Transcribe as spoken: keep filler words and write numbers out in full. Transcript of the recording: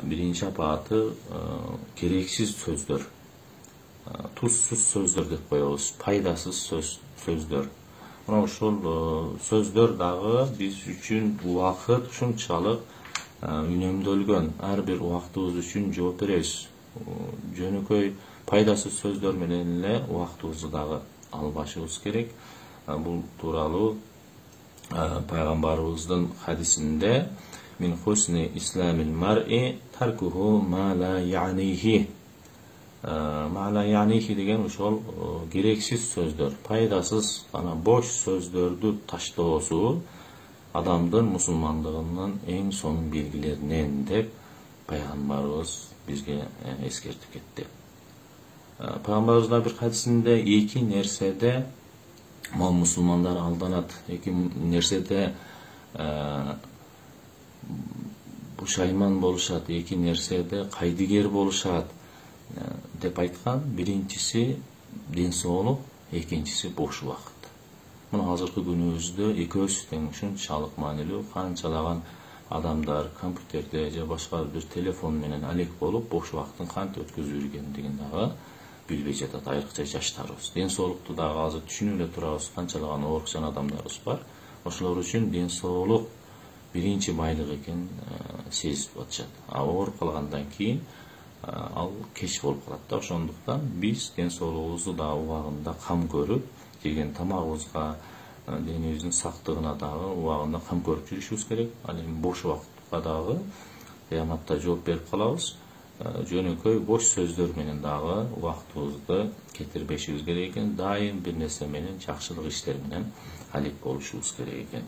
биринчи апааты керексиз сөздөр, тузсуз сөздөр деп коебуз, пайдасыз сөз сөздөр. Мына ушул сөздөр дагы биз үчүн убакыт ушунчалык үнөмдөлгөн. Ар бир убактыбыз үчүн жооп беребиз. Жөнөкөй пайдасыз сөздөр менен эле убактыбызды дагы албашыбыз керек. Бул тууралуу пайгамбарыбыздын хадисинде мин хусни исламил мар'i таркуху ма ла я'нихи. Ма ла я'нихи деген ошол керексиз сөздөр, пайдасыз жана бош сөздөрдү таштоосу адамдын мусулмандыгынын эң сонун белгилеринен деп пайгамбарыбыз бизге эскертип кетти. Пайгамбарыбыз бир хадисинде эки нерседе мал мусулмандар алданат, эки нерседе пушайман болушат, эки нерседе кайдыгер болушат деп айткан. Биринчиси ден соолук, экинчиси бош убакыт. Мына азыркы күнүбүздө экөөсү тең ушунчалык маанилүү. Канчалаган адамдар компьютерде же башка бир телефон менен алек болуп бош убакытын кантип өткөзүп жүргендигин дагы билбей жатат, айрыкча жаштарыбыз. Ден соолукту дагы азыр түшүнүп эле турабыз, канчалаган оорукчан адамдарыбыз бар. Ошолор үчүн ден соолук биринчи байлык экенин сезип атышат. А ооруп калгандан кийин ал кеч болуп калат да. Ошондуктан биз ден соолугубузду дагы убагында кам көрүп, жеген тамагыбызга, денебиздин сактыгына дагы убагында кам көрүп жүрүшүбүз керек. Ал эми бош убакытка дагы кыяматта жооп берип калабыз. Жөнөкөй бош сөздөр менен дагы убактыбызды кетирбешибиз керек экен. Дайым бир нерсе менен, жакшылык иштер менен алек болушубуз керек экен.